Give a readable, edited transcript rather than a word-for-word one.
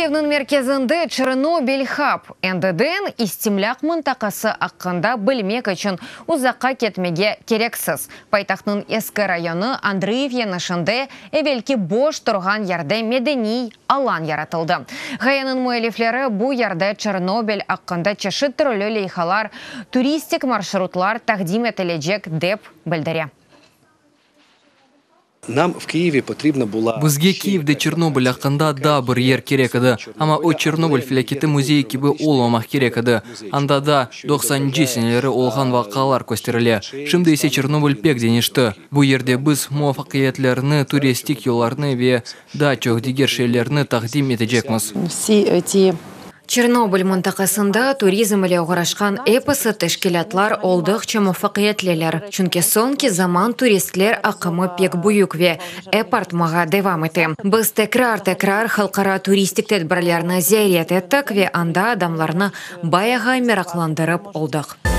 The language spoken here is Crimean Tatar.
Kyivniñ merkezinde Çernobıl Hab, endiden istimlâq mıntaqası aqqında bilmek içün uzaqqa ketmege kereksiz. Paytahtnıñ eski rayonı Andriyev yeñişinde evelki boş turğan yerde medeniy alan yaratıldı. Ğayeniñ müellifleri bu yerde Çernobıl aqqında çeşit türlü leyhalar, turistik marşrutlar taqdim etilecek, dep bildire. Нам в Киеве потрібна була Bizge Kiyevde Çernobıl aqqında daa bir yer kerek edi. Amma o Çernobıl felâketi müzeyi kibi olmamaq kerek edi. Anda da 90-ncı seneleri olğan vaqialar kösterile. Şimdi ise Çernobıl pek deñişti. Bu yerde biz muvafaqiyetlerni, turistik yollarnı ve daa çoq diger şeylerni taqdim etecekmiz. Всі ті Çernobıl mıntaqasında turizm ile oğraşqan episi teşkilâtlar olduqça muvafaqiyetliler. Çünki soñki zaman turistler aqımı pek büyük ve ep artmağa devam ete. Biz tekrar-tekrar halqara turistik tedbirlerni ziyaret ettik ve anda adamlarnı bayağı meraqlandırıp oldıq.